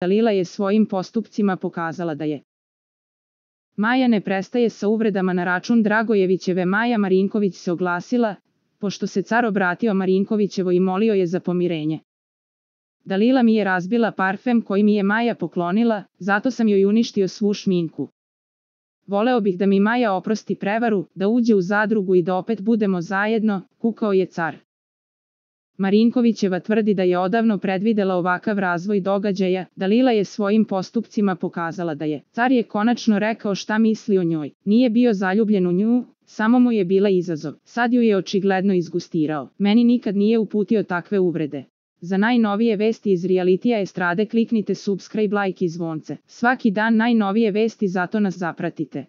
Dalila je svojim postupcima pokazala da je. Maja ne prestaje sa uvredama na račun Dragojevićeve. Maja Marinković se oglasila, pošto se car obratio Marinkovićevoj i molio je za pomirenje. Dalila mi je razbila parfem koji mi je Maja poklonila, zato sam joj uništio svu šminku. Voleo bih da mi Maja oprosti prevaru, da uđe u zadrugu i da opet budemo zajedno, kukao je car. Marinkovićeva tvrdi da je odavno predvidela ovakav razvoj događaja. Dalila je svojim postupcima pokazala da je. Car je konačno rekao šta misli o njoj. Nije bio zaljubljen u nju, samo mu je bila izazov. Sad ju je očigledno izgustirao. Meni nikad nije uputio takve uvrede. Za najnovije vesti iz realitija estrade kliknite subscribe, like i zvonce. Svaki dan najnovije vesti, zato nas zapratite.